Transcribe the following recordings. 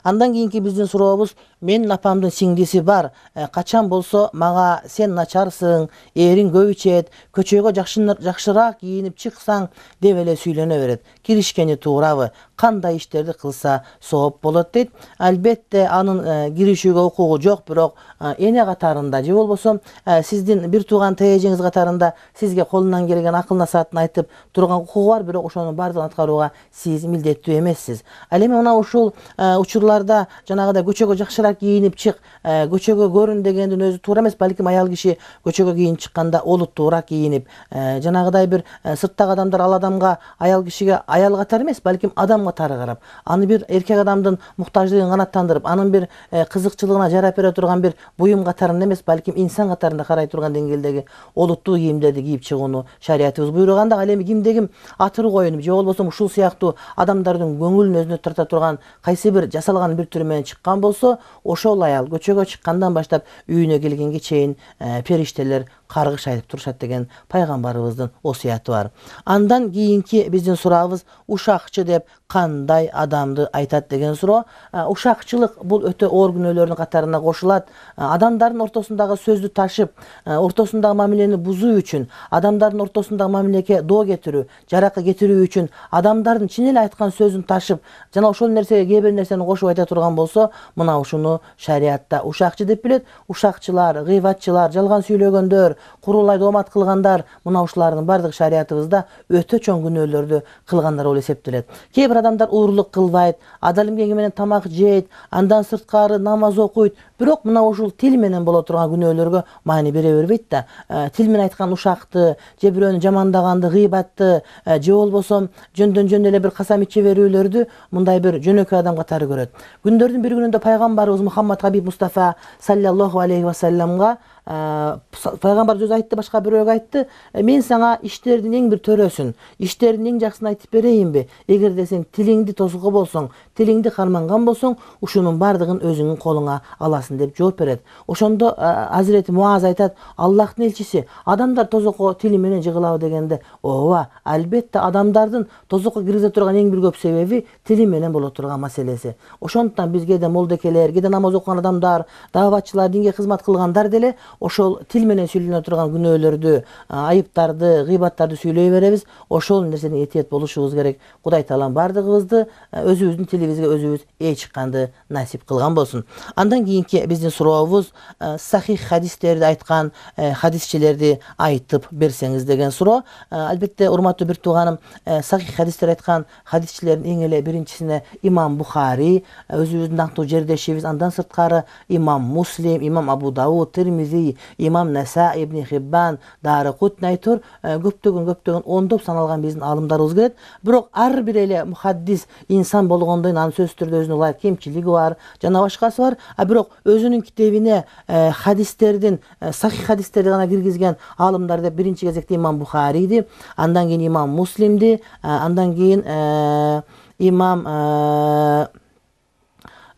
Андан кийинки биздин сурообуз: менин апамдын сиңдиси бар. Качан болсо мага сен начарсың, эриң көп ичет, көчөгө жакшыраак кийинип чыксаң деп эле сүйлөнө берет. Киришкени туурабы? Кандай иштерди кылса сооп болот дейт. Албетте анын киришүүгө укугу жок, бирок эне катарында же болбосо сиздин бир тууган тээжеңиз катарында сизге колунан келген акыл насаатын айтып турган укугу бар, бирок ошонун баардыгын аткарууга сиз милдеттүү эмессиз. Ал эми мына ушул учурларда жанагыдай көчөгө жакшыраак кийинип чык, көчөгө көрүн дегендин өзү туура эмес. Балким аял киши көчөгө кийинип чыкканда олуттуураак кийинип, жанагыдай бир сырттагы адамдар ал адамга, аял кишиге аял катары эмес, балким адам катары карап, аны бир эркек адамдын муктаждыгын канааттандырып, анын бир кызыкчылыгына жарап бере турган бир буюм катарында эмес, балким инсан катарында карай турган деңгээлдеги олуттуу кийимдерди кийип чыгууну шариятыбыз буйруган. Ал эми кимде ким атыры коюнуп же болбосо ушул сыяктуу адамдардын көңүлүн өзүнө тарта турган кайсы бир жасалган бир түрү менен чыккан болсо, ошол аял көчөгө чыккандан баштап үйүнө келгенге чейин периштелер каргыш айтып турушат деген пайгамбарыбыздын осуяты бар. Андан кийинки биздин сурообуз: ушакчы деп кандай адамды айтат деген суроо. Ушакчылык бул өтө оор күнөөлөрдүн катарына кошулат. Адамдардын ортосундагы сөздү ташып, ортосундагы мамилени бузуу үчүн, адамдардын ортосундагы мамилеге доо кетирүү, жаракы кетирүү үчүн адамдардын чын эле айткан сөзүн ташып, жана ошол нерсеге кээ бир нерсени кошуп айта турган болсо, мына ушуну шариятта ушакчы деп билет. Ушакчылар, гыйбатчылар, жалган сүйлөгөндөр, курулай доомат кылгандар, мына ушулардын баардыгы шариятыбызда өтө чоң күнөөлөрдү кылгандар болуп эсептелет. Кээ бир адамдар уурлук кылбайт, адал эмгеги менен тамак жейт, андан сырткары намаз окуйт, бирок мына ушул тил менен боло турган күнөөлөргө маани бере бербейт да. Тил менен айткан ушакты, же бирөөнү жамандаганды, гыйбатты, же болбосо жөндөн жөн эле бир касам иче берүүлөрдү мындай бир жөнөкөй адам катары көрөт. Күндөрдүн бир күнүндө пайгамбарыбыз Мухаммад Хабиб Мустафа саллаллаху алейхи ва салламга пайгамбар өзү айтты, башка бирөөгө айтты: мен сага иштердин эң бир төрөсүн, иштердин эң жакшысын айтып берейинби? Эгерде сен тилиңди тосуго болсоң, тилиңди карманган болсоң, ушунун баардыгын өзүңдүн колуңа аласың деп жооп берет. Ошондо Азирети Муаз айтат: Аллахтын элчиси, адамдар тозокко тили менен жыгылабы дегенде, ооба, албетте адамдардын тозокко киргизе турган эң бир көп себеби тили менен боло турган маселеси. Ошондуктан бизге да молдекелер, кээде намаз окуган адамдар, дааватчылар, динге кызмат кылгандар деле ошол тил менен сүйлөнө турган күнөөлөрдү, айыптарды, гыйбаттарды сүйлөй беребиз. Ошол нерседен этият болушубуз керек. Кудай таалам баардыгыбызды өзүбүздүн тилибизге өзүбүз ээ чыкканды насип кылган болсун. Андан кийинки биздин сурообуз: сахих хадистерди айткан хадисчилерди айтып берсеңиз деген суроо. Албетте, урматтуу бир тууганым, сахих хадистер айткан хадисчилердин эң эле биринчисине имам Бухари, өзүбүздүн даңктуу жердешибиз, андан сырткары имам Муслим, имам Абу Дауд, Тирмизи, имам Наса, Ибн Хиббан, Дарыкутни айтор көптөгөн ондоп саналган биздин аалымдарыбыз келет. Бирок ар бир эле мухаддис инсан болгондон анын сөзсүз түрдө өзүнүн ылайык кемчилиги бар, жана башкасы бар. Бирок өзүнүн китебине хадистердин, сахих хадистерди гана киргизген аалымдар деп биринчи кезекте имам Бухариди, андан кийин имам Муслимди, андан кийин имам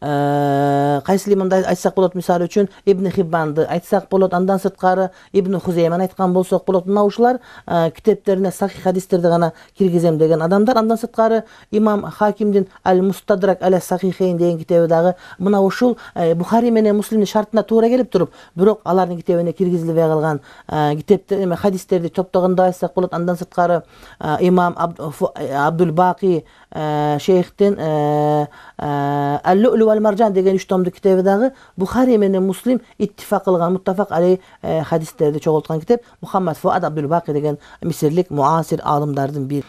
кайсыл имамды айтсак болот, мисалы үчүн Ибн Хиббанды айтсак болот, андан сырткары Ибн Хузеймани айткан болсок болот. Мына ушулар китептерине сахих хадистерди гана киргизем деген адамдар. Андан сырткары имам Хакимдин Аль-Мустадрак аля Сахихейн деген китеби дагы мына ушул Бухари менен Муслимдин шартына туура келип туруп, бирок алардын китебине киргизилбей калган китептер, хадистерди топтогондо айтсак болот. Андан сырткары имам Абдул Баки шейхтин Аль-Лю'лю валь Маржан деген 3 томдук китеби дагы Бухари менен Муслим иттифак кылган, муттафак алей хадистерди чогулткан китеп. Мухаммад Фуад Абдул Баки деген мисирлик муасир аалымдардын бири.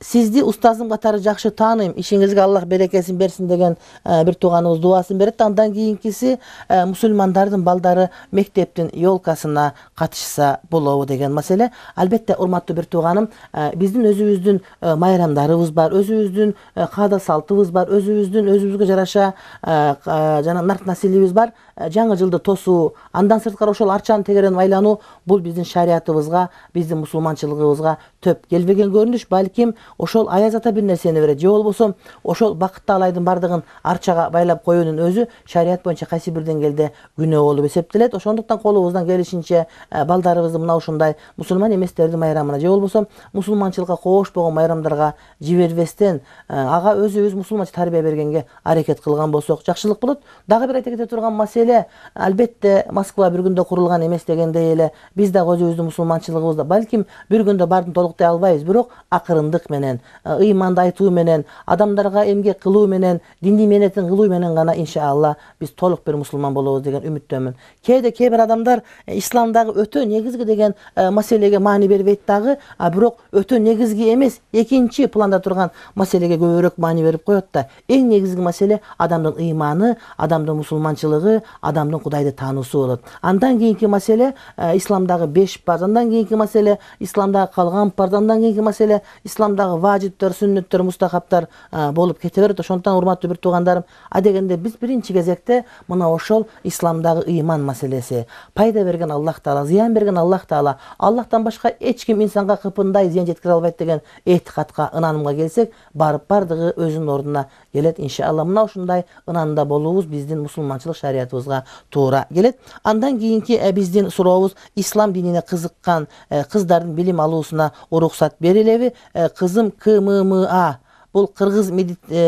Сизди устазым катары жакшы тааныйм, ишиңизге Аллах берекесин берсин деген бир тууганыбыз дубасын берет. Андан кийинкиси: мусулмандардын балдары мектептин ёлкасына катышса болобу деген маселе. Албетте, урматтуу бир тууганым, биздин өзүбүздүн майрамдарыбыз бар, өзүбүздүн каада салтыбыз бар, өзүбүзгө жараша боюнча жана нарт населебиз бар. Жаңы жылды тосуу, андан сырткары ошол арчаны тегеренип айлануу бул биздин шариятыбызга, биздин мусулманчылыгыбызга төп келбеген көрүнүш. Балким ошол аяз ата бир нерсени берет, же болбосо ошол бакыттуу алайдын бардыгын арчага байлап коюунун өзү шарият боюнча кайсы бир деңгээлде күнөө болуп эсептелет. Ошондуктан колубуздан келишинче балдарыбызды мына ушундай мусулман эместердин майрамына же болбосо мусулманчылыкка кошпогон майрамдарга жибербестен ага өзүбүз мусулманча тарбия бергенге аракет кылган болсок жакшылык болот. Дагы бир айта кете турган маселе, албетте Москва бир күндө курулган эмес дегендей эле биз дагы өзүбүздүн мусулманчылыгыбызда балким бир күндө баарын толуктай албайбыз, бирок акырындык менен, ыйманды айтуу менен, адамдарга эмгек кылуу менен, диндий мээнетин кылуу менен гана иншалла биз толук бир мусулман болобуз деген үмүттөмүн. Кээде кээ бир адамдар исламдагы өтө негизги деген маселеге маани бербейт дагы, бирок өтө негизги эмес, экинчи планда турган маселеге көбүрөөк маани берип коет да. Эң негизги маселе адамдын ыйманы, адамдын мусулманчылыгы, адамдын Кудайды таануусу болот. Андан кийинки маселе исламдагы 5 парз, андан кийинки маселе исламдагы калган парз, андан кийинки маселе исламдагы важиптер, сүннөттөр, мустахабтар болуп кете берет. Ошондуктан урматтуу бир туугандарым, адегенде биз биринчи кезекте мына ошол исламдагы ыйман маселеси, пайда берген Аллах Таала, зыян берген Аллах Таала, Аллахтан башка эч ким инсанга кыпындай зыян жеткире албайт деген этикадка, ынанымга келсек, бардыгы өзүнүн ордуна келет иншалла. Мына ушундай ынанда болуубуз биздин мусулманчылык шариятыбызга туура келет. Андан кийинки биздин сурообуз, ислам динине кызыккан кыздардын билим алуусуна уруксат берилеби? Кызым КММА, бул Кыргыз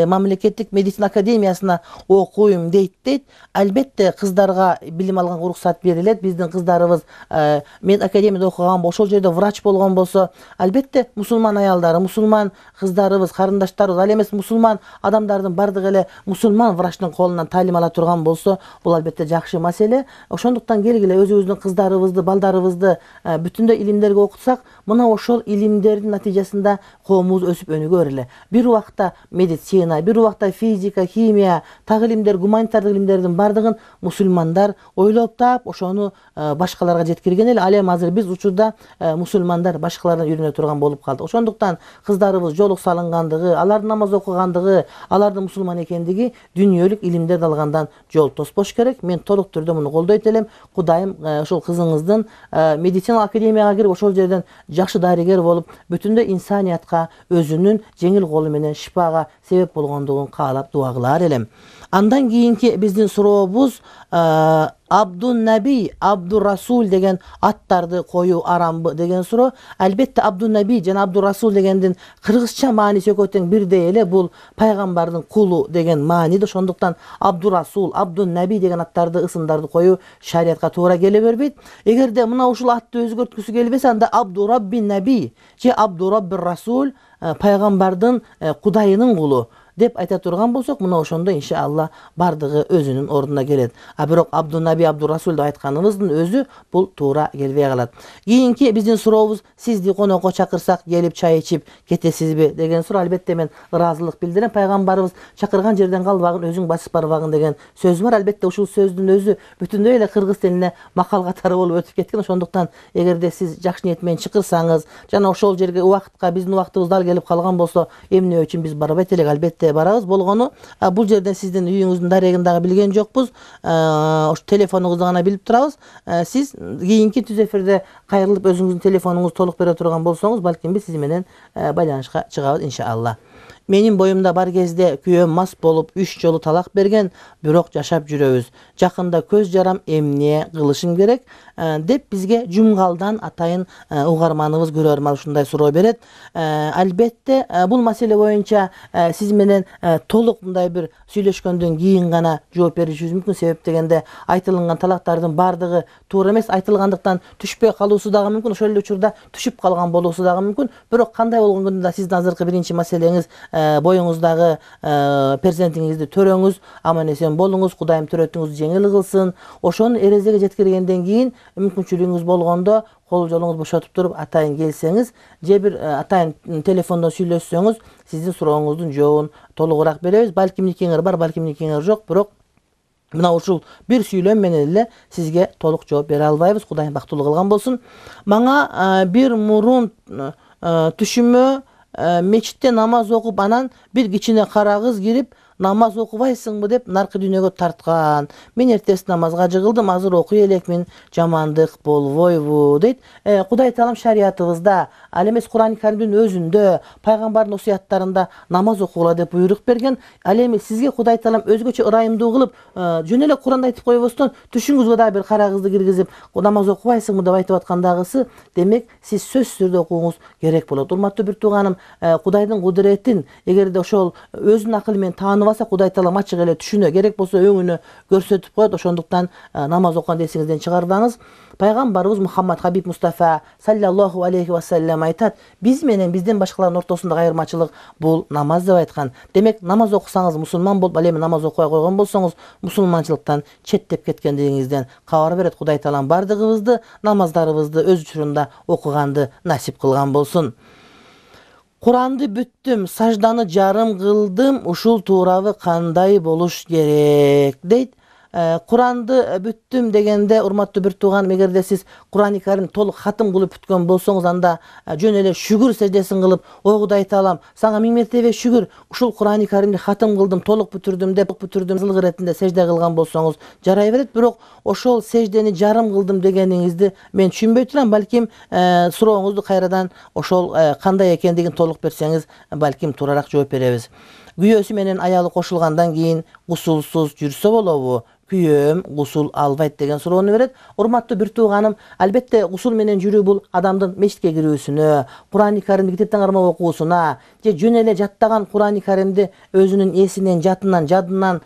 мамлекеттик медицина академиясына окуйм дейт. Албетте кыздарга билим алганга уруксат берилет. Биздин кыздарыбыз мед академияда окуган, ошол жерде врач болгон болсо, албетте мусулман аялдары, мусулман кыздарыбыз, карындаштарыбыз, ал эмес мусулман адамдардын бардыгы эле мусулман врачтын колунан таалим ала турган болсо, бул албетте жакшы маселе. Ошондуктан келгиле өзүбүздүн кыздарыбызды, балдарыбызды бүтүндөй илимдерге окутсак, мына ошол илимдердин натыйжасында коомубуз өсүп өнүгө берели. Бир убакта медицина, бир убакта физика, химия, так илимдер, гуманитардык илимдердин бардыгын мусулмандар ойлоп таап, ошону башкаларга жеткирген эле. Ал эми азыр биз учурда мусулмандар башкалардан үйрөнө турган болуп калдык. Ошондуктан кыздарыбыз жолук салынгандыгы, алардын намаз окугандыгы, алардын мусулман экендиги дүйнөлүк илимдерди алгандан жол тоспош керек. Мен толук түрдө муну колдойт элем. Кудайым ошол кызыңыздын медицина академияга кирип, ошол жерден жакшы дарыгер болуп, бүтүндөй инсаниятка өзүнүн жеңил колу менен шифага себеп болгондугун каалап дуа кылар элем. Андан кийинки биздин сурообуз, Абдун-Наби, Абдур-Расул деген аттарды коюу арамбы деген суроо. Албетте Абдун-Наби жана Абдур-Расул дегендин кыргызча мааниси экөө тең бирдей эле. Бул пайгамбардын кулу деген мааниде. Ошондуктан Абдур-Расул, Абдун-Наби деген аттарды, ысымдарды коюу шариятка туура келе бербейт. Эгерде мына ушул атты өзгөрткүсү келбесе, анда Абдураббин-Наби же Абдураббир-Расул, пайгамбардын Кудайынын кулу деп айта турган болсок, мына ошондо иншалла бардыгы өзүнүн ордуна келет. Бирок Абдун-Наби, Абдур-Расул деп айтканыбыздын өзү бул туура келбей калат. Кийинки биздин сурообуз, сизди конокко чакырсак келип чай ичип кетесизби деген суроо. Албетте мен ыраазылык билдирем. Пайгамбарыбыз чакырган жерден калбагын, өзүң басып барбагын деген сөз бар. Албетте ушул сөздүн өзү бүтүндөй эле кыргыз тилине макал катары болуп өтүп кеткен. Ошондуктан эгерде сиз жакшы ниет менен чакырсаңыз, жана ошол жерге убакытка биздин убактыбыз дал келип калган болсо, эмне үчүн биз барбайт элек? Албетте барабыз. Болгону бул жерден сиздин үйүңүздүн дарегин дагы билген жокпуз. Ош телефонуңузду гана билип турабыз. Сиз кийинки түз эфирде кайрылып өзүңүздүн телефонуңузду толук бере турган болсоңуз, балким биз сиз менен байланышка чыгабыз иншалла. Менин боюмда бар кезде күйөөм мас болуп 3 жолу талак берген, бирок жашап жүрөбүз. Жакында көз жарам, эмне кылышым керек деп бизге Жумгалдан атайын угарманыбыз, көрөрман ушундай суроо берет. Албетте бул маселе боюнча сиз менен толук мындай бир сүйлөшкөндөн кийин гана жооп беришибиз мүмкүн. Себеп дегенде айтылган талактардын бардыгы туура эмес, айтылгандыктан түшпөй калуусу дагы мүмкүн, ошол эле учурда түшүп калган болуусу дагы мүмкүн. Бирок кандай болгондо да сиздин азыркы биринчи маселеңиз, боюңуздагы перзентиңизди төрөңүз, аман эсен болуңуз, Кудайым төрөтүңүздү жеңил кылсын. Ошону эрезеге жеткиргенден кийин мүмкүнчүлүгүңүз болгондо кол жолуңуз бошотуп туруп атайын келсеңиз, же бир атайын телефондон сүйлөшсөңүз, сиздин сурооңуздун жообун толугураак беребиз. Балким никеңер бар, балким никеңер жок, бирок мына ушул бир сүйлөм менен эле сизге толук жооп бере албайбыз. Кудайым бактылуу кылган болсун. Мага бир мурун түшүмө мечитте намаз окуп, анан бир кичине кара кыз кирип, намаз окубайсыңбы деп наркы дүйнөгө тарткан. Мен эртеси намазга жыгылдым, азыр окуй элекмин, жамандык болбойбу дейт. Кудай таалам шариятыбызда, ал эмес Кур'ан-ы Каримдин өзүндө, пайгамбардын осуяттарында намаз окугула деп буйрук берген. Ал эми сизге Кудай таалам өзгөчө ырайымдуу кылып, жөн эле Кур'анды айтып койбостон, түшүңүзгө дагы бир карагызды киргизип, намаз окубайсыңбы деп айтып аткандагысы, демек сиз сөзсүз түрдө окууңуз керек болот. Урматтуу бир тууганым, Кудайдын кудуретин эгерде ошол өзүнүн акылы менен таанып алса, Кудай таалам ачык эле түшүнө, керек болсо өңүнө көрсөтүп коет. Ошондуктан намаз окуган эсиңизден чыгарбаңыз. Пайгамбарыбыз Мухаммад Хабиб Мустафа саллаллаху алейхи ва саллям айтат: биз менен бизден башкалардын ортосундагы айырмачылык бул намаз деп айткан. Демек намаз окусаңыз мусулман болуп, ал эми намаз окубай койгон болсоңуз мусулманчылыктан четтеп кеткендигиңизден кабар берет. Кудай таалам бардыгыбызды намаздарыбызды өз учурунда окуганды насип кылган болсун. Куранды бүттүм, сажданы жарым кылдым, ушул туурабы кандай болуш керек дейт. Куранды бүттүм дегенде, урматтуу бир тууган, эгерде сиз Кур'ан-ы Карим толук хатым кылып бүткөн болсоңуз, анда жөн эле шүгүр сеждесин кылып, ой Кудай таалам, сага миң мертебе шүгүр, ушул Кур'ан-ы Каримди хатым кылдым, толук бүтүрдүм деп зылгы иретинде сежде кылган болсоңуз жарай берет. Бирок ошол сеждени жарым кылдым дегениңизди мен түшүнбөй турам. Балким сурооңузду кайрадан ошол кандай экендигин толук берсеңиз, балким туурараак жооп беребиз. Күйөөсү менен аялы кошулгандан кийин гусулсуз жүрсө болобу? Күйөөм гусул албайт деген суроону берет. Урматтуу бир тууганым, албетте гусул менен жүрүү бул адамдын мечитке кирүүсүнө, Кур'ан-ы Каримди китептен кармап окуусуна, же жөн эле жаттаган Кур'ан-ы Каримди өзүнүн эсинен, жадынан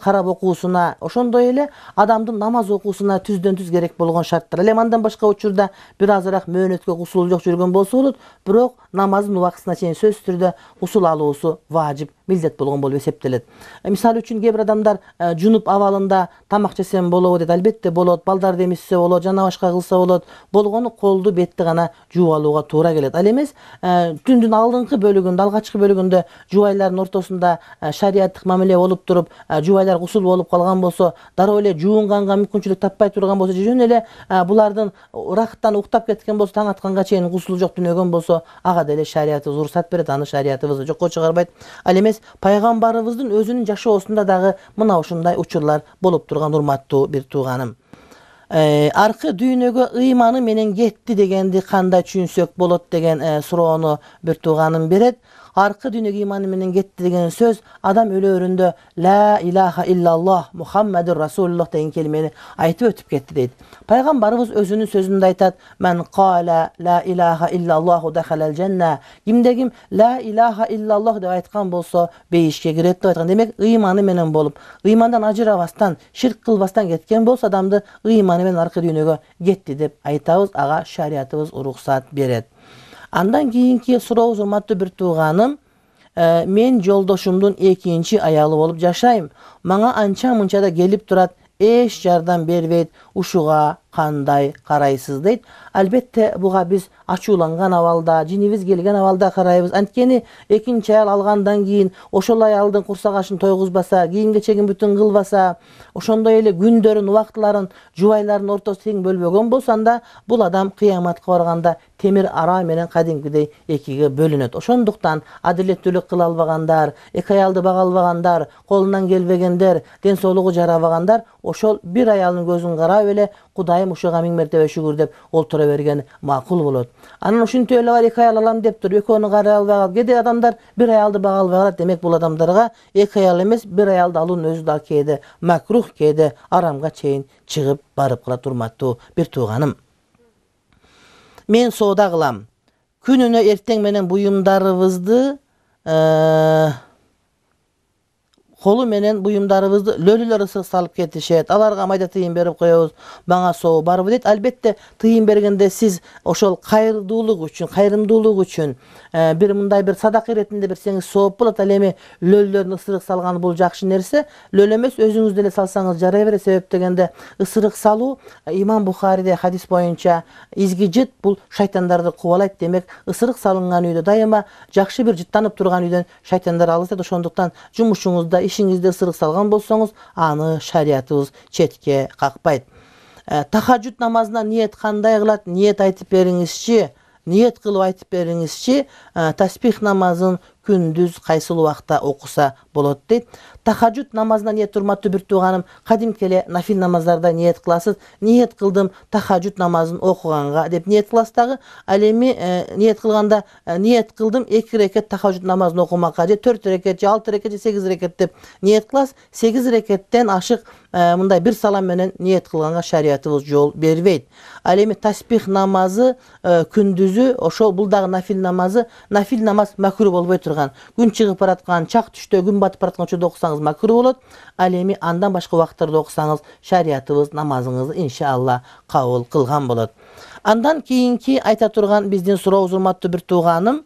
карап окуусуна, ошондой эле адамдын намаз окуусуна түздөн түз керек болгон шарттар. Ал эми андан башка учурда бир азыраак мөөнөткө гусул жок жүргөн болсо болот, бирок намаздын убактысына чейин сөзсүз түрдө гусул алуусу важип, милдет болгон болуп эсептелет. Мисалы үчүн кээ бир адамдар жунуп абалында тамак жесем болобу дейт. Албетте болот, балдарды эмизсе болот, жана башка кылса болот. Болгону колду, бетти гана жууп алууга туура келет. Ал эмес түндүн алдыңкы бөлүгүндө, алгачкы бөлүгүндө жубайлардын ортосунда шариаттык мамиле болуп туруп, жубайлар гусул болуп калган болсо, дароо эле жуунганга мүмкүнчүлүк таппай турган болсо, жөн эле булардын ырахаттан уктап кеткен болсо, таң атканга чейин гусул жок түнөгөн болсо, ага деле шариятыбыз уруксат берет, аны шариятыбыз жокко чыгарбайт. Ал эмес пайгамбарыбыздын өзүнүн жашоосунда дагы мына ушундай учурлар болуп турган, урматтуу бир тууганым. Аркы дүйнөгө ыйманы менен кетти дегенди кандай түшүнсөк болот деген суроону бир тууганым берет. Аркы дүйнөгө ыйманы менен кетти деген сөз, адам өлөөрүндө ла илаха иллаллах Мухаммадур Расулуллах деген келмени айтып өтүп кетти дейт. Пайгамбарыбыз өзүнүн сөзүндө айтат: "Мен кала ла илаха иллаллаху дахалал жанна". Кимде ким ла илаха иллаллах деп айткан болсо, бейишке кирет деп айткан. Демек, ыйманы менен болуп, ыймандан ажырабастан, ширк кылбастан кеткен болсо, адамды ыйманы менен аркы дүйнөгө кетти деп айтабыз. Ага шариятыбыз уруксат берет. Андан кийинки сурообуз, урматтуу бир тууганым, мен жолдошумдун экинчи аялы болуп жашайм. Мага анча-мынча да келип турат, эч жардам бербейт. Ушуга кандай карайсыз дейт. Албетте буга биз ачууланган абалда, жинибиз келген абалда карайбыз. Анткени экинчи аял алгандан кийин ошол аялдын курсак ашын тойгузбаса, кийим-кечегин бүтүн кылбаса, ошондой эле күндөрүн, убактыларын жубайлардын ортосу тең бөлбөгөн болсо, анда бул адам кыяматка барганда темир ара менен кадимкидей экиге бөлүнөт. Ошондуктан адилеттүүлүк кыла албагандар, эки аялды бага албагандар, колунан келбегендер, ден соолугу жарабагандар ошол бир аялдын көзүн карап эле Кудайым ушуга миң мертебе шүгүр деп олтура берген макул болот. Анан ушинтип эле бар, эки аял алам деп тур, экөөнү карай албай калып, кээде адамдар бир аялды бага албай калат. Демек, бул адамдарга эки аял эмес, бир аялды алуунун өзү да кээде макрух, кээде арамга чейин чыгып барып калат. Урматтуу бир тууганым, мен соода кылам. Күнүнө эртең менен буюмдарыбызды колу менен буюмдарыбызды лөлүлөр ысык салып кетишет. Аларга майда тыйын берип коебуз. Мага соо барбы дейт. Албетте тыйын бергенде сиз ошол кайрымдуулук үчүн бир мындай бир садака иретинде берсеңиз сооп болот. Ал эми лөлүлөрдүн ысырык салганы бул жакшы нерсе. Лөлө эмес, өзүңүз деле салсаңыз жарай берет. Себеп дегенде ысырык салуу, Имам Бухариде хадис боюнча, изги жыт бул шайтандарды кубалайт. Демек, ысырык салынган үйдө дайыма жакшы бир жыттанып турган үйдөн шайтандар алыс. Ошондуктан жумушуңузда, ишиңизде ысырык салган болсоңуз, аны шариятыбыз четке какпайт. Тахажжуд намазына ниет кандай кылат? Ниет айтып бериңизчи. Ниет кылып айтып бериңизчи. Таспих намазын күндүз кайсыл убакта окуса болот дейт. Тахажжуд намазына ниет, урматтуу бир тууганым, кадимки эле нафил намаздарда ниет кыласыз. Ниет кылдым тахажжуд намазын окуганга деп ниет кыласыз дагы. Ал эми ниет кылганда ниет кылдым 2 рекет тахажжуд намазын окумакка, же 4 рекет, же 6 рекет, же 8 рекет деп ниет кыласыз. 8 рекеттен ашык мындай бир салам менен ниет кылганга шариятыбыз жол бербейт. Ал эми таспих намазы күндүзү ошол бул дагы нафил намазы. Нафил намаз макруh болбой турган, күн чыгып бараткан, чак түштө, күн батып бараткан учурда окусаңыз макруh болот. Ал эми андан башка убакыттарда окусаңыз шариятыбыз намазыңызды иншалла кабыл кылган болот. Андан кийинки айта турган биздин сурообуз, урматтуу бир тууганым,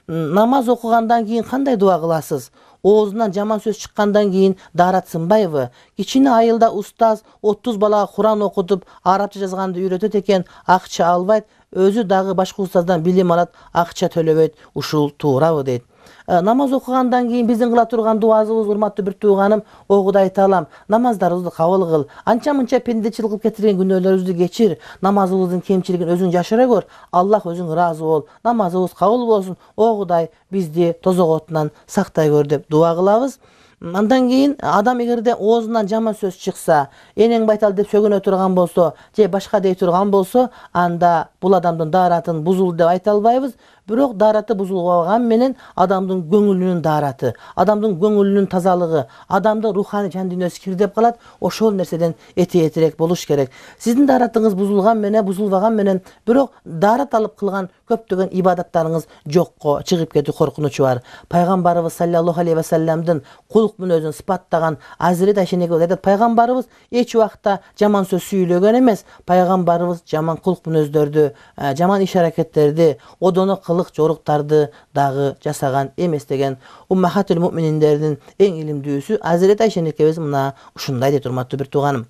намаз окугандан кийин кандай дуа кыласыз? Оозунан жаман сөз чыккандан кийин даарат сынбайбы? Кичине айылда устаз 30 балага Куран окутуп, арабча жазганды үйрөтөт экен, акча албайт, өзү дагы башка устаздан билим алат, акча төлөбөйт. Ушул туурабы дейт. Намаз окугандан кийин биздин кыла турган дуабыз, урматтуу бир тууганым, о Кудай таалам, намаздарыбызды кабыл кыл. Анча-мынча пендечилик кылып кетирген күнөөлөрүбүздү кечир. Намазыбыздын кемчилигин өзүң жашыра көр. Аллах өзүң ыраазы бол. Намазыбыз кабыл болсун. О Кудай, бизди тозок отунан сактай көр деп дуа кылабыз. Андан кийин адам эгерде оозунан жаман сөз чыкса, энең байтал деп сөгөнө турган болсо, же башка дей турган болсо, анда бул адамдын дааратын бузулду деп айта албайбыз. Бирок даараты бузулбаган менен адамдын көңүлүнүн даараты, адамдын көңүлүнүн тазалыгы, адамдын руханий жан дүйнөсү кирдеп калат. Ошол нерседен этиетирээк болуш керек. Сиздин дааратыңыз бузулган менен, бузулбаган менен, бирок даарат алып кылган көптөгөн ибадаттарыңыз жокко чыгып кетүү коркунучу бар. Пайгамбарыбыз саллаллаху алейхи ва салламдын кулк мүнөзүн сыпаттаган Азирет Айша энегибиз айтат, пайгамбарыбыз эч убакта жаман сөз сүйлөгөн эмес. Пайгамбарыбыз жаман кулк мүнөздөрдү, жаман иш аракеттерди, одоно жоруктарды дагы жасаган эмес деген Уммахатул муъмининдердин эң илимдүүсү Азирет Айша энекебиз мына ушундай дейт, урматтуу бир тууганым.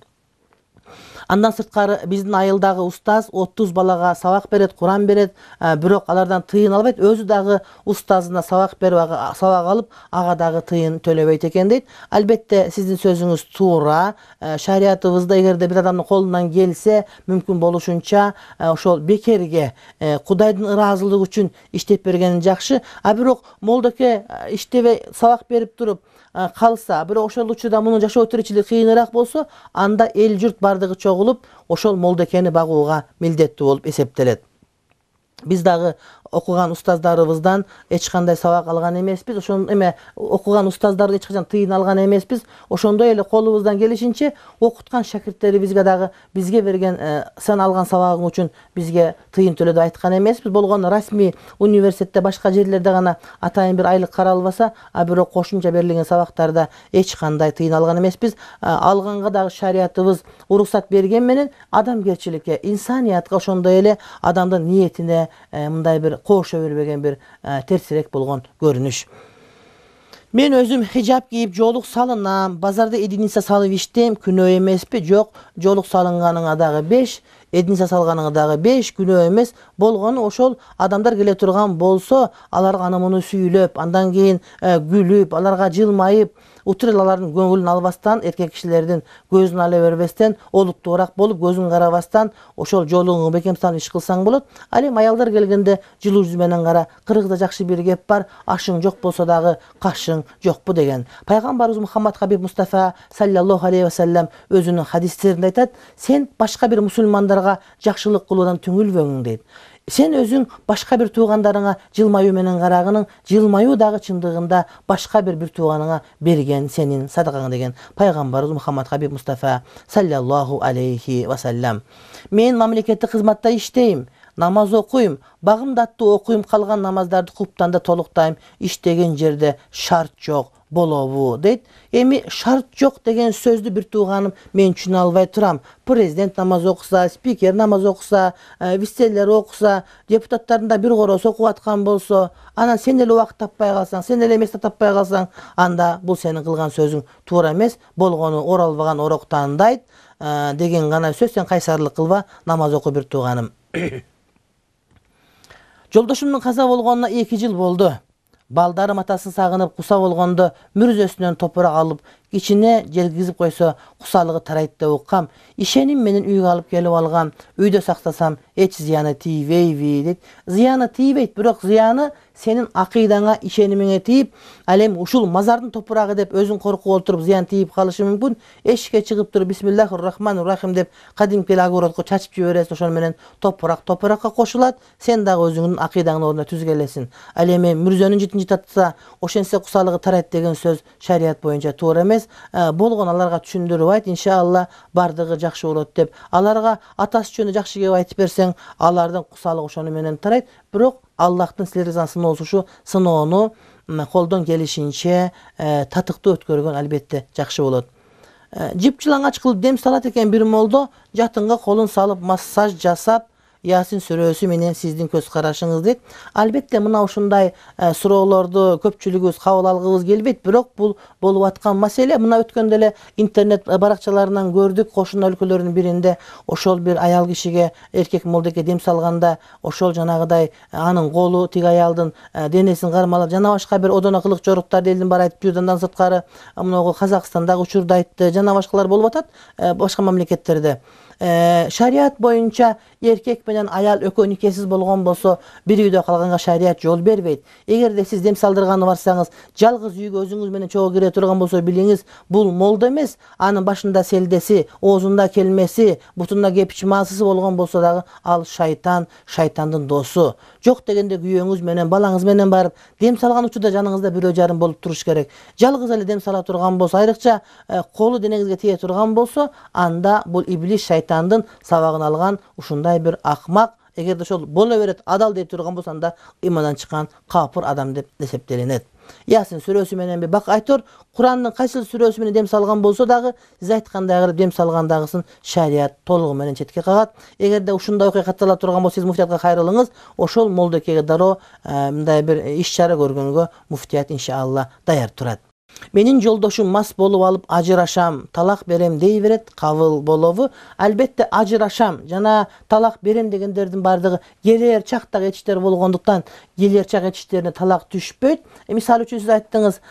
Андан сырткары биздин айылдагы устаз 30 балага сабак берет, Куран берет, бирок алардан тыйын албайт. Өзү дагы устазына сабак берип, сабак алып, ага дагы тыйын төлөбөйт экен дейт. Албетте сиздин сөзүңүз туура. Шариятыбызда эгерде бир адамдын колунан келсе, мүмкүн болушунча ошол бекерге Кудайдын ыраазылыгы үчүн иштеп бергени жакшы. Бирок молдоке иштебей сабак берип туруп калса, бирок ошол учурда мунун жашоо тиричилиги кыйыныраак болсо, анда эл журт бардыгы чогулуп, ошол молдокени багууга милдеттүү болуп эсептелет. Биз дагы окуган устаздарыбыздан эч кандай сабак алган эмеспиз. Ошон эме окуган устаздарды эч качан тыйын алган эмеспиз. Ошондой эле колубуздан келишинче окуткан шакирттерибизге дагы бизге берген сен алган сабагың үчүн бизге тыйын төлө деп айткан эмеспиз. Болгону расмий университетте, башка жерлерде гана атайын бир айлык каралбаса, бирок кошумча берилген сабактарда эч кандай тыйын алган эмеспиз. Алганга дагы шариятыбыз уруксат берген менен адамгерчиликке, инсаниятка, ошондой эле адамдын ниетине мындай бир кошо бербеген бир терсирээк болгон көрүнүш. Мен өзүм хижап кийип жоолук салынам, базарда эдиница салып иштейм, күнөө эмеспи? Жок, жоолук салынганыңа дагы 5, эдиница салганыңа дагы 5 күнөө эмес. Болгону ошол адамдар келе турган болсо, аларга аны муну сүйлөп, андан кийин күлүп, аларга жылмайып, утур алардын көңүлүн албастан, эркек кишилердин көзүн ала бербестен, олуттуураак болуп, көзүн карабастан, ошол жолуңу бекем салып иш кылсаң болот. Ал эми аялдар келгенде жылуу жүз менен кара. Кыргызда жакшы бир кеп бар, ашың жок болсо дагы кашың жокпу деген. Пайгамбарыбыз Мухаммад Хабиб Мустафа саллаллаху алейхи ва саллям өзүнүн хадистеринде айтат: "Сен башка бир мусулмандарга жакшылык кылуудан түңүлбөңүң" дейт. Сен өзүң башка бир туугандарыңа жылмаюу менен карагының, жылмаюу дагы чындыгында башка бир тууганыңа берген сенин садакаң деген пайгамбарыбыз Мухаммад Хабиб Мустафа саллаллаху алейхи ва саллям. Мен мамлекеттик кызматта иштейм, намаз окуйм, багымды аттуу окуйм, калган намаздарды куптанда толуктайм, иштеген жерде шарт жок болобу дейт. Эми шарт жок деген сөздү бир тууганым мен түшүнө албай турам. Президент намаз окуса, спикер намаз окуса, вице-лер окуса, депутаттардын да бир короосу окуп аткан болсо, анан сен эле убакыт таппай калсаң, сен эле место таппай калсаң, анда бул сенин кылган сөзүң туура эмес. Болгону оралбаган орок таандайт деген гана сөз. Сен кайсарлык кылба, намаз оку бир тууганым. Жолдошумдун каза болгонуна 2 жыл болду. Балдарым атасын сагынып куса болгондо мүрзөсүнөн топурак алып кичине желгизип койсо кусалыгы тарайт деп уккам. Ишеним менен үйгө алып келип алгам. Үйдө сактасам эч зыяны тийбейби дейт. Зыяны тийбейт, бирок зыяны сенин акыйдаңа, ишенимиңе тийип, ал эми ушул мазардын топурагы деп өзүң коркуп отуруп зыян тийип калышы мүмкүн. Эшикке чыгып туруп бисмиллахир-рахманир-рахим деп кадимки огородко чачып жибересиң, ошону менен топуракка кошулат. Сен дагы өзүңдүн акыйдаңдын ордуна түзгелесиң. Ал эми мүрзөнүн житин житатса, ошентсе кусалыгы тарайт деген сөз шарият боюнча туура эмес. Болгон аларга түшүндүрүп айт, иншалла бардыгы жакшы болот деп. Аларга атасы жөнүндө жакшы кеп айтып берсең, алардын кусалыгы ошону менен тарайт. Бирок Аллахтын силерге сыноосу ушу сыноону колдон келишинче татыктуу өткөргөн албетте жакшы болот. Жип жылаңач кылып дем салат экен бир молдо, жатынга колун салып массаж жасап, Ясин сүрөсү менен сиздин көз карашыңыз дейт. Албетте мына ушундай суроолорду көпчүлүгүбүз кабыл алгыбыз келбейт, бирок бул болуп аткан маселе. Мына өткөндө эле интернет баракчаларынан көрдүк, Кошуна өлкөлөрүнүн биринде ошол бир аял кишиге эркек молдоке дем салганда, ошол жанагыдай анын колу тиги аялдын денесин кармалап, жана башка бир одоно кылык жоруктарды элдин баары айтып жүрдү. Андан сырткары мынагу Казакстандагы учурду айтты, жана башкалар болуп атат башка мамлекеттерде. Шарият боюнча эркек менен аял экөө никесиз болгон болсо, бир үйдө калганга шарият жол бербейт. Эгерде сиз дем салдырганы барсаңыз, жалгыз үйгө өзүңүз менен чогуу кире турган болсо, билиңиз, бул молдо эмес, анын башында селдеси, оозунда келмеси, бутунда кепичи маасысы болгон болсо дагы ал шайтан, шайтандын досу. Жок дегенде күйөөңүз менен, балаңыз менен барып дем салган учурда жаныңызда бирөө жарым болуп туруш керек. Жалгыз эле дем сала турган болсо, айрыкча колу денеңизге тие турган болсо, анда бул иблис шайтандын сабагын алган ушундай бир акмак. Эгерде ошол боло берет, адал дей турган болсо, анда имандан чыккан капыр адам деп эсептелинет. Ясин сүрөсү менен бак айтор, Курандын кайсыл сүрөсү менен дем салган болсо дагы, сиз айткандай кылып дем салгандагысын шарият толугу менен четке кагат. Эгерде ушундай окуя каттала турган болсо, сиз муфтиятка кайрылыңыз, ошол молдокеге дароо мындай бир иш-чара көргөнгө муфтият иншалла даяр турат. Менин жолдошум мас болуп алып ажырашам, талак берем дей берет, кабыл болобу? Албетте ажырашам жана талак берем дегендердин бардыгы келер чактагы этиштер болгондуктан, келер чак этиштерине талак түшпөйт. Мисалы үчүн сиз айттыңыз,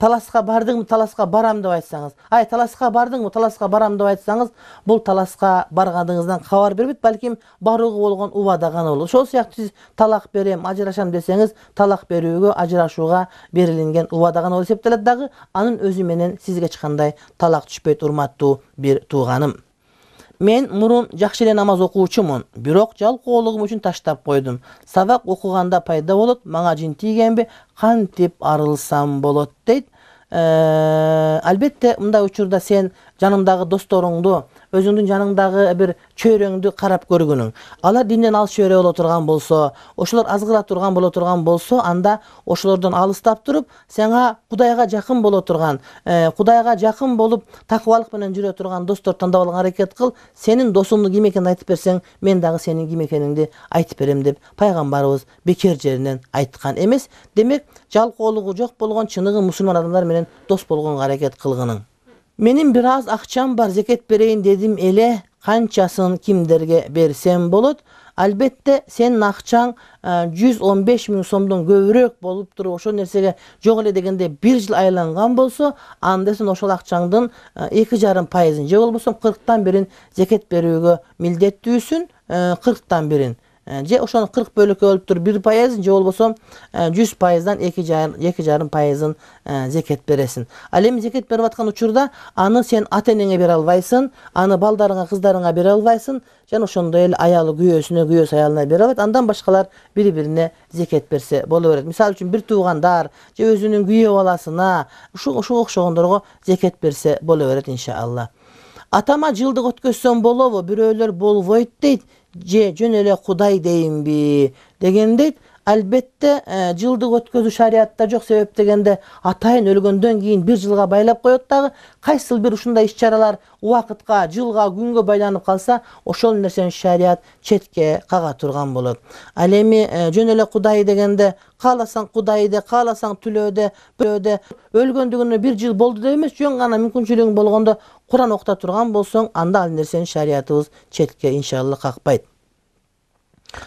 таласка бардыңбы, таласка барам деп айтсаңыз, таласка бардыңбы, таласка барам деп айтсаңыз, бул таласка баргандыгыңыздан кабар бербейт, балким барууга болгон убада гана болот. Ошол сыяктуу сиз талак берем, ажырашам десеңиз, талак берүүгө, ажырашууга берилинген убада гана болуп эсептелет дагы, анын өзү менен сизге эч кандай талак түшпөйт, урматтуу бир тууганым. Мен мурун жакшы эле намаз окуучумун, бирок жалкоолугум үчүн таштап койдум. Сабак окуганда пайда болот, мага жин тийгенби, кантип арылсам болот дейт. Албетте мындай учурда сен жаныңдагы досторуңду, өзүңдүн жаныңдагы бир чөйрөңдү карап көргүнүң. Алар динден алыс чөйрө боло турган болсо, ошолор азгыра турган боло турган болсо, анда ошолордон алыстап туруп, сага Кудайга жакын боло турган, Кудайга жакын болуп, такыбалык менен жүрө турган достор тандап алганга аракет кыл. Сенин досуңдун ким экенин айтып берсең, мен дагы сенин ким экениңди айтып берем деп пайгамбарыбыз бекер жеринен айткан эмес. Демек, жалкоолугу жок болгон чыныгы мусулман адамдар менен дос болгонго аракет кылгының. Менин бир аз акчам бар, зекет берейин дедим эле, канчасын кимдерге берсем болот? Албетте сенин акчаң 115 000 сомдон көбүрөөк болуп туруп, ошол нерсеге жок эле дегенде 1 жыл айланган болсо, анда сен ошол акчаңдын 2,5%, же болбосо 40тан 1 зекет берүүгө милдеттүүсүн, 40тан 1. Же ошону 40 бөлөккө бөлүп туруп 1%, же болбосо 100%дан 2,5% зекет бересиң. Ал эми зекет берип аткан учурда аны сен ата-энеңе бере албайсың, аны балдарыңа, кыздарыңа бере албайсың, жана ошондой эле аялы күйөөсүнө, күйөөсү аялына бере албайт. Андан башкалар бири-бирине зекет берсе боло берет. Мисалы үчүн бир туугандар же өзүнүн күйөө баласына, ушуга окшогондорго зекет берсе боло берет иншалла. Атама жылдык өткөзсөм болобу? Бирөөлөр болбойт дейт. Же жөн эле Кудай дейинби деген дейт. Албетте жылдык өткөзүү шариятта жок, себеп дегенде атайын өлгөндөн кийин 1 жылга байлап коет дагы. Кайсыл бир ушундай иш-чаралар убакытка, жылга, күнгө байланып калса, ошол нерсени шарият четке кага турган болот. Ал эми жөн эле Кудай дегенде, кааласаң Кудайды, кааласаң түлөөдө, өлгөндүгүнө 1 жыл болду деп эмес, жөн гана мүмкүнчүлүгүң болгондо Куран окута турган болсоң, анда ал нерсени шариятыбыз четке иншалла какпайт.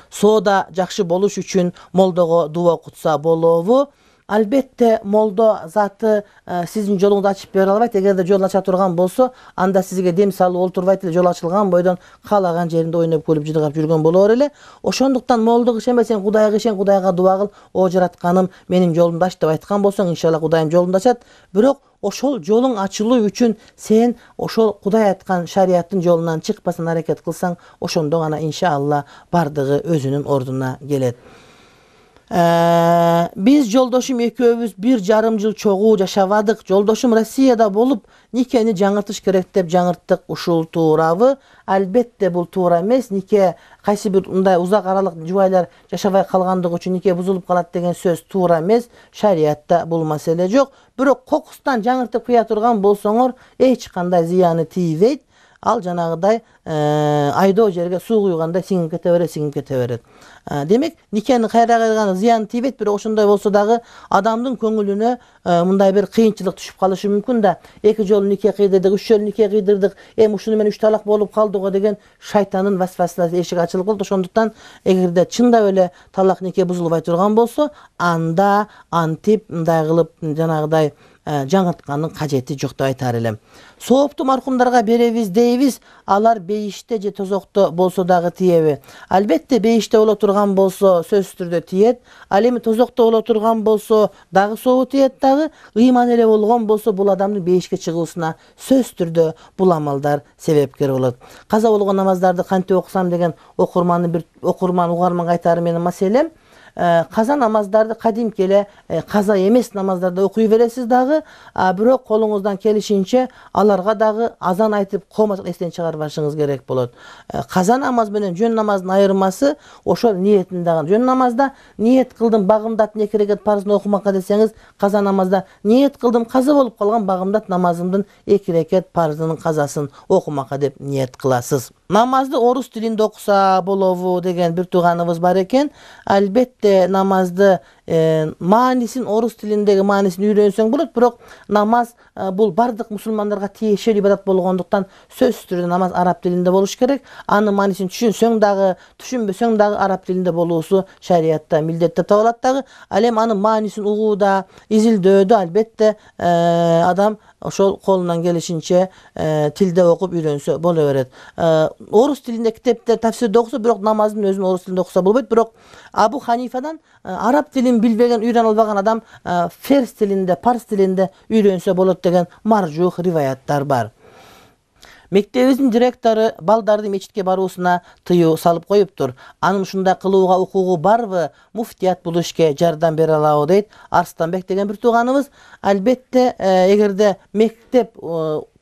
Соода жакшы болуш үчүн молдого дуа окутса болобу? Албетте молдо заты сиздин жолуңду ачып бере албайт. Эгерде жол ача турган болсо, анда сизге дем салып олтурбайт эле, жол ачылган бойдон каалаган жеринде ойноп күлүп жыдыргап жүргөн болор эле. Ошондуктан молдук ишенбе, сен Кудайга ишен, Кудайга дуа кыл, о жаратканым менин жолумду ач деп айткан болсоң, иншалла Кудайым жолуңду ачат. Бирок ошол жолуң ачылуу үчүн сен ошол Кудай айткан шарияттын жолунан чыкпасына аракет кылсаң, ошондо гана иншалла бардыгы өзүнүн ордуна келет. Биз жолдошум экөөбүз 1,5 жыл чогуу жашабадык. Жолдошум Россияда болуп, никени жаңыртыш керек деп жаңырттык. Ушул туурабы? Албетте бул туура эмес. Нике кайсы бир мындай узак аралык жубайлар жашабай калгандыгы үчүн нике бузулуп калат деген сөз туура эмес. Шариятта бул маселе жок. Бирок кокустан жаңыртып кыя турган болсоңор, эч кандай зыяны тийбейт. Ал жанагыдай айдоо жерге суу куйгандай сиңип кете берет. Демек, никени кайра кылган зыян тийбейт, бирок ошондой болсо дагы адамдын көңүлүнө мындай бир кыйынчылык түшүп калышы мүмкүн да. 2 жолу нике кыйдырдык, 3 жолу нике кыйдырдык, ушуну менен 3 талак болуп калды го деген шайтандын васвасасы эшик ачылып калды. Ошондуктан эгерде чындап эле талак нике бузулбай турган болсо, анда антип мындай кылып жанагыдай жаңырткандын кажети жок деп айтар элем. Соопту маркумдарга беребиз дейбиз, алар бейиште же тозокто болсо дагы тиеби? Албетте бейиште боло турган болсо сөзсүз түрдө тиет. Ал эми тозокто боло турган болсо дагы сообу тиет дагы. Ыйман эле болгон болсо бул адамдын бейишке чыгуусуна сөзсүз түрдө бул амалдар себепкер болот. Каза болгон намаздарды кантип окусам деген угарманга айтары менин маселем. Каза намаздарды кадимки эле каза эмес намаздарды окуй бересиз дагы, бирок колуңуздан келишинче аларга дагы азан айтып комачык эстен чыгарбашыңыз керек болот. Каза намаз менен жөн намаздын айырмасы ошол ниетин дагы. Жөн намазда ниет кылдым багымдат 2 рекат парзын окумакка десеңиз, каза намазда ниет кылдым каза болуп калган багымдат намазымдын 2 рекат парзынын казасын окумакка деп ниет кыласыз. Намазды орус тилинде окуса болобу деген бир тууганыбыз бар экен. Албетте намазды маанисин орус тилиндеги маанисин үйрөнсөң болот, бирок намаз бул бардык мусулмандарга тиешелүү ибадат болгондуктан сөзсүз түрдө намаз араб тилинде болуш керек. Анын маанисин түшүнсөң дагы, түшүнбөсөң дагы араб тилинде болуусу шариятта милдет деп табылат дагы. Ал эми анын маанисин угууда, изилдөөдө албетте адам ошол колунан келишинче тилде окуп үйрөнсө боло берет. Орус тилинде китептер тафсирде окуса, бирок намаздын өзүн орус тилинде окуса болбойт. Бирок Абу Ханифадан араб тилин билбеген, үйрөнө албаган адам ферс тилинде, парс тилинде үйрөнсө болот деген маржух риваяттар бар. Мектебибиздин директору балдарды мечитке баруусуна тыюу салып коюптур. Анын ушундай кылууга укугу барбы? Муфтият бул ишке жардам бере алабы дейт Арстанбек деген бир тууганыбыз. Албетте, эгерде мектеп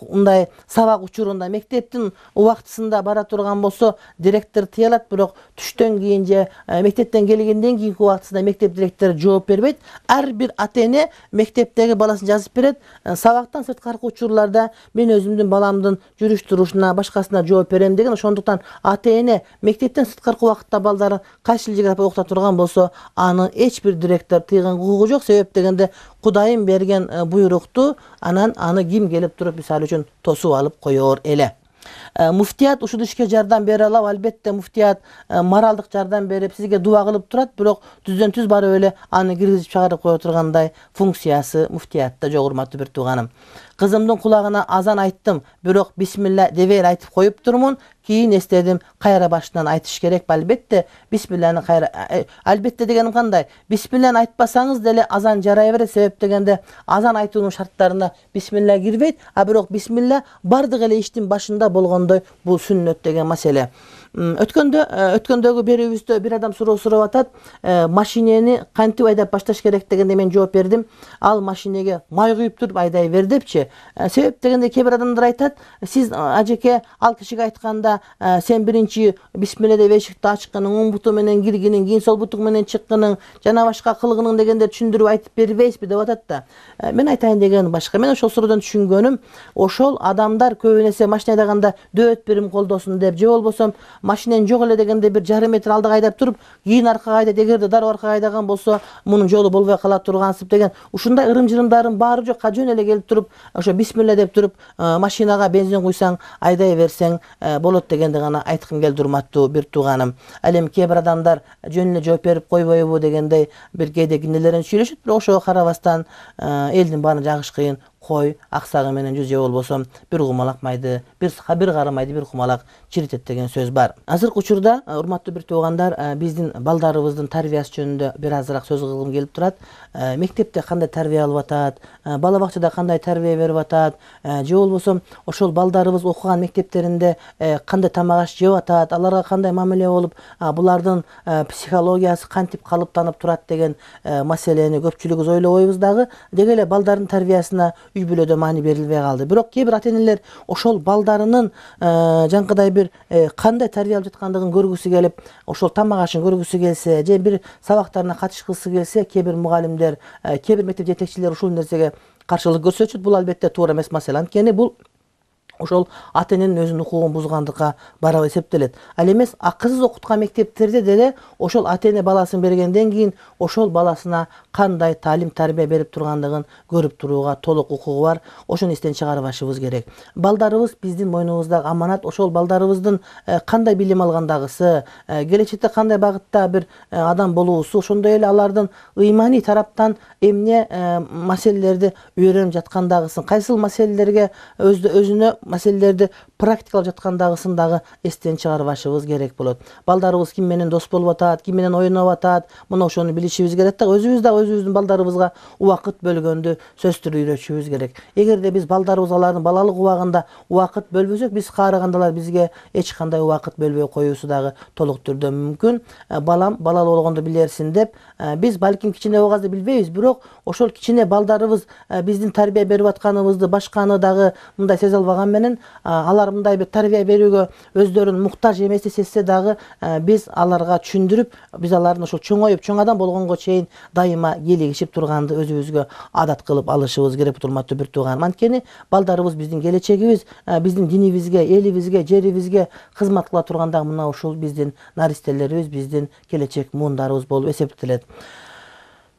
мындай сабак учурунда мектептин убактысында бара турган болсо, директор тыя алат, бирок түштөн кийин же мектептен келгенден кийинки убактысында мектеп директору жооп бербейт. Ар бир ата-эне мектептеги баласын жазып берет. Сабактан сырткаркы учурларда мен өзүмдүн баламдын жүрүш турушуна, башкасына жооп берем деген. Ошондуктан ата-эне мектептен сырткаркы убакытта балдарын кайсыл жерге окута турган болсо, аны эч бир директор тыйган укугу жок. Себеп дегенде Кудайым берген буйрукту аны ким келип туруп мисалы үчүн тосуп алып коёр эле. Муфтият ушул ишке жардам бере алат. Албетте муфтият моралдык жардам берип, сизге дуа кылып турат, бирок түздөн түз барып эле аны киргизип чыгарып кое тургандай функциясы муфтиятта жок, урматтуу бир тууганым. Кызымдын кулагына азан айттым, бирок бисмилла дебей айтып коюп турмун. Кийин эстедим, кайра башынан айтыш керек. Албетте бисмилланы кайра албетте дегеним кандай? Бисмилланы айтпасаңыз деле азан жарай берет. Себеп дегенде азан айтуунун шарттарына бисмилла кирбейт, бирок бисмилла бардык эле иштин башында болгондой бул сүннөт деген маселе. Өткөндөгү берүүбүздө бир адам суроо сурап атат, машинени кантип айдап башташ керек дегенде мен жооп бердим. Ал машинеге май куюп туруп айдай бер депчи. Себеп дегенде кээ бир адамдар айтат, сиз ажеке ал кишиге айтканда сен биринчи бисмилла деп эшикти ачкының, оң буту менен киргинин, кийин сол буту менен чыккының, жана башка кылгының дегенде түшүндүрүп айтып бербейсизби деп атат да. Мен айтайын дегеним башка. Мен ошол суроодон түшүнгөнүм, ошол адамдар көбүн эсе машина айдаганда дөөт бирим колдосун деп, же болбосо машинен жок эле дегенде бир жарым метр алдыга айдап туруп, кийин аркага айдайт, эгерде дароо аркага айдаган болсо мунун жолу болбой кала тургансып деген ушундай ырым-жырымдардын баары жок, жөн эле келип туруп, ошо бисмилла деп туруп, машинага бензин куйсаң, айдай берсең болот дегенди гана айткым келди, урматтуу бир тууганым. Ал эми кээ бир адамдар жөн эле жооп берип койбойбу дегендей бир кээде кинелерин сүйлөшөт, бирок ошого карабастан элдин баарын жагыш кыйын. Кой аксагы менен жүз, же болбосо бир кумалак майды, бир кара майды бир кумалак чиритет деген сөз бар. Азыркы учурда, урматтуу бир туугандар, биздин балдарыбыздын тарбиясы жөнүндө бир азыраак сөз кылгым келип турат. Мектепте кандай тарбия алып атат, бала бакчада кандай тарбия берип атат, же болбосо ошол балдарыбыз окуган мектептеринде кандай тамак аш жеп атат, аларга кандай мамиле болуп, булардын психологиясы кантип калыптанып турат деген маселени көпчүлүгүбүз ойлобойбуз дагы. Деги эле балдардын тарбиясына үй бүлөдө маани берилбей калды. Бирок кээ бир ата-энелер ошол балдарынын жанкыдай бир кандай тарбия алып жаткандыгын көргүсү келип, ошол тамак ашын көргүсү келсе, же бир сабактарына катышкысы келсе, кээ бир мугалимдер, кээ бир мектеп жетекчилери ушул нерсеге каршылык көрсөтүшөт. Бул албетте туура эмес маселе. Анткени бул ошол ата-эненин өзүнүн укугун бузгандыкка барабы эсептелет. Ал эмес, акысыз окуткан мектептерде деле ошол ата-эне баласын бергенден кийин ошол баласына кандай талим тарбия берип тургандыгын көрүп турууга толук укугу бар. Ошону эстен чыгарбашыбыз керек. Балдарыбыз биздин мойнубуздагы аманат. Ошол балдарыбыздын кандай билим алгандагысы, келечекте кандай багытта бир адам болуусу, ошондой эле алардын ыйманий тараптан эмне маселелерди үйрөнүп жаткандагысын, кайсыл маселелерге өзүнө маселелерди практикалап жаткандагысын дагы эстен чыгарбашыбыз керек болот. Балдарыбыз ким менен дос болуп атат, ким менен ойноп атат, мына ошону билишибиз керек да. Өзүбүз дагы өзүбүздүн балдарыбызга убакыт бөлгөндү сөзсүз түрдө үйрөтүшүбүз керек. Эгерде биз балдарыбыз алардын балалык убагында убакыт бөлбөсөк, биз каарыгандалар бизге эч кандай убакыт бөлбөй коюусу дагы толук түрдө мүмкүн. Балам балалуу болгондо билерсин деп, биз балким кичине убагында билбейбиз, бирок ошол кичине балдарыбыз биздин тарбия берип атканыбызды башканы дагы мындай сезе албаган менен, алар мындай бир тарбия берүүгө өздөрүн муктаж эмес сезсе дагы, биз аларга түшүндүрүп, биз алардын ошол чоңоюп, чоң адам болгонго чейин дайыма кийлигишип турганды өзүбүзгө адат кылып алышыбыз керек, урматтуу бир тууганым. Анткени балдарыбыз биздин келечегибиз, биздин динибизге, элибизге, жерибизге кызмат кыла турганда мына ушул биздин наристелерибиз, биздин келечек муундарыбыз болуп эсептелет.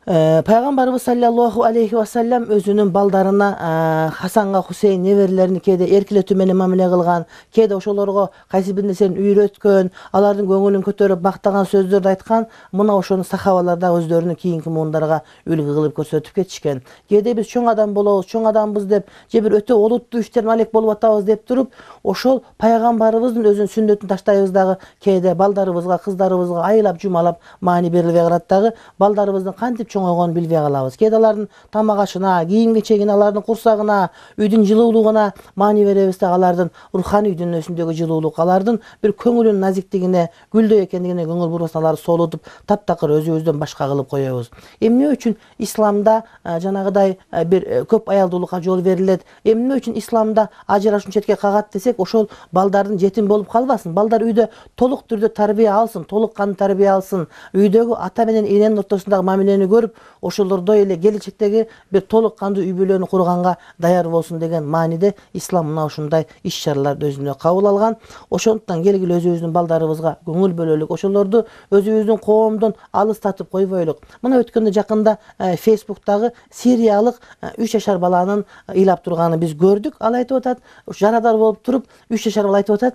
Пайгамбарыбыз саллаллаху алейхи ва саллям өзүнүн балдарына, Хасанга, Хусейн неберелерин кээде эркелетүү менен мамиле кылган, кээде ошолорго кайсы бир нерсени үйрөткөн, алардын көңүлүн көтөрүп мактаган сөздөрдү айткан. Мына ошону сахабалар да өздөрүнүн кийинки муундарга үлгү кылып көрсөтүп кетишкен. Кээде биз чоң адам болобуз, чоң адамбыз деп, же бир өтө олуттуу иштерин алек болуп атабыз деп туруп, ошол пайгамбарыбыздын өзүнүн сүннөтүн таштайбыз дагы. Кээде балдарыбызга, кыздарыбызга айылап жумалап маани берилбей калат дагы. Балдарыбыздын кантип чоңойгонун билбей калабыз. Кээде алардын тамак ашына, кийим-кечегине, алардын курсагына, үйдүн жылуулугуна маани беребиз да, алардын руханий дүйнөсүндөгү жылуулук, алардын бир көңүлүнүн назиктигине, гүлдөй экендигине көңүл бурбастан аларды солутуп, таптакыр өзүбүздөн башка кылып коебуз. Эмне үчүн исламда жанагыдай бир көп аялдуулукка жол берилет? Эмне үчүн исламда ажырашуу четке кагат десек, ошол балдардын жетим болуп калбасын. Балдар үйдө толук түрдө тарбия алсын, толук кандуу тарбия алсын. Үйдөгү ата менен эненин ортосундагы мамилени көрүп, ошолордой эле келечектеги бир толук кандуу үй бүлөнү курганга даяр болсун деген мааниде ислам мына ушундай иш-чараларды өзүнө кабыл алган. Ошондуктан келгиле өзүбүздүн балдарыбызга көңүл бөлөлүк, ошолорду өзүбүздүн коомдон алыстатып койбойлук. Мына өткөндө жакында Facebook'тагы сириялык 3 жашар баланын ыйлап турганын биз көрдүк. Ал айтып атат, жарадар болуп туруп, 3 жашар бала айтып атат,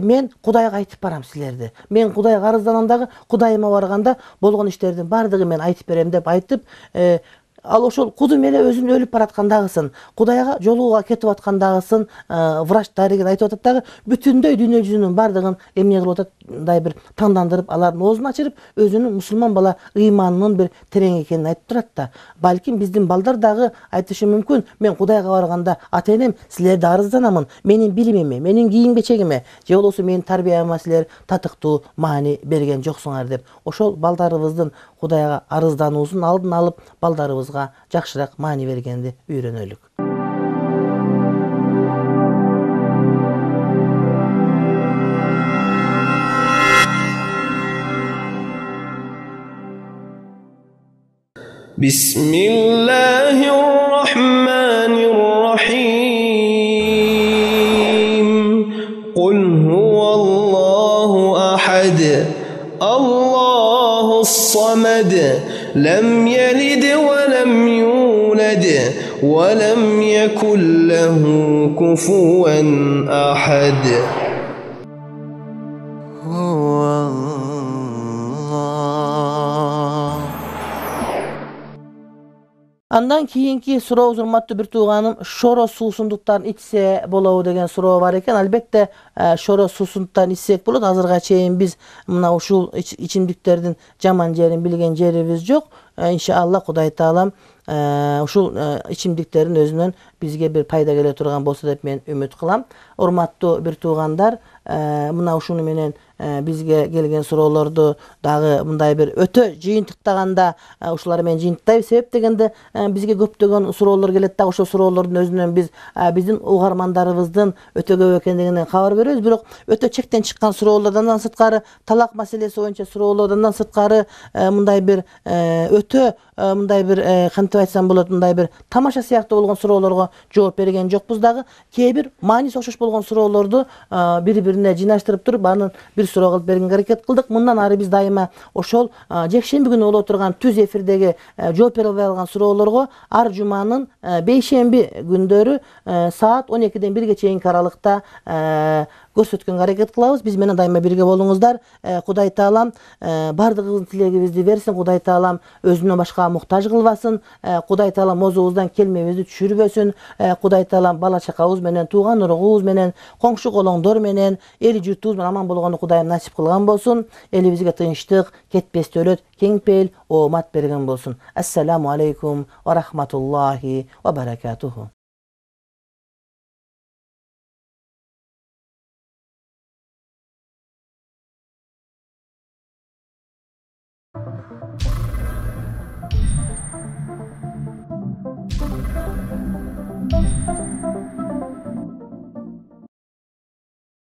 мен Кудайга айтып барам силерди. Мен Кудайга арызданам дагы, Кудайыма барганда болгон иштердин бардыгын мен айтып берем деп айтып, ал ошол кудум эле өзүн өлүп бараткандагысын, Кудайга жолууга кетип аткандагысын врач дарыгер айтып атат дагы, бүтүндөй дүйнө жүзүнүн бардыгын эмне кылып атат, мындай бир тандандырып, алардын оозун ачырып, өзүнүн мусулман бала ыйманынын бир терең экенин айтып турат да. Балким биздин балдар дагы айтышы мүмкүн, мен Кудайга барганда, ата-энем, силерди арызданамын, менин билимиме, менин кийим-кечегиме, же болбосо менин тарбияма силер татыктуу маани берген жоксуңар деп. Ошол балдарыбыздын Кудайга арыздануусун алдын алып, балдарыбызга жакшыраак маани бергенди үйрөнөлүк. Bismillahirrahmanirrahim. Qul huvallahu الصمد لم يلد ولم يولد ولم يكن له كفوا أحد. Andan kийинки суроо урматтуу бир тууганым, шоро суусундуктарын ичсе болобу деген суроо бар экен. Албетте шоро суусундуктарын ичсек болот. Азырга чейин биз мына ушул ичимдиктердин жаман жерин билген жерибиз жок. Иншалла Кудай Таалам ушул ичимдиктердин өзүнөн бизге бир пайда келе турган болсо деп мен үмүт кылам. Урматтуу бир туугандар, мына ушуну менен бизге келген суроолорду дагы мындай бир өтө жыйынтыктаганда ушулар менен жыйынтыктайбыз. Себеп дегенде бизге көптөгөн суроолор келет да, ошол суроолордун өзүнөн биз биздин угармандарыбыздын өтө көп экендигинен кабар беребиз. Бирок өтө чектен чыккан суроолордон сырткары, талак маселеси боюнча суроолордон сырткары мындай бир өтө мындай бир кантип айтсам болот, мындай бир тамаша сыяктуу болгон суроолорго жооп берген жокпуз дагы. Кээ бир мааниси окшош болгон суроолорду бири-бирине жыйнаштырып туруп анын бир суроо кылып бергенге аракет кылдык. Мындан ары биз дайыма ошол жекшемби күнү боло турган түз эфирдеги жооп бере албай калган суроолорго ар жуманын бейшемби күндөрү саат 12-ден 1-ге чейинки аралыкта көрсөткөнгө аракет кылабыз. Биз менен дайыма бирге болуңуздар. Кудай Таалам бардыгыбыздын тилегибизди берсин. Кудай Таалам өзүнөн башка муктаж кылбасын. Кудай Таалам оозубуздан келмебизди түшүрбөсүн. Кудай Таалам бала чакабыз менен, тууган уругубуз менен, коңшу колоңдор менен, эл журтубуз менен аман болгону Кудайым насип кылган болсун. Элибизге тынчтык, кетпес дөлөт, кең пейил, оомат берген болсун. Ассаламу алейкум ва рахматуллахи ва баракатуху.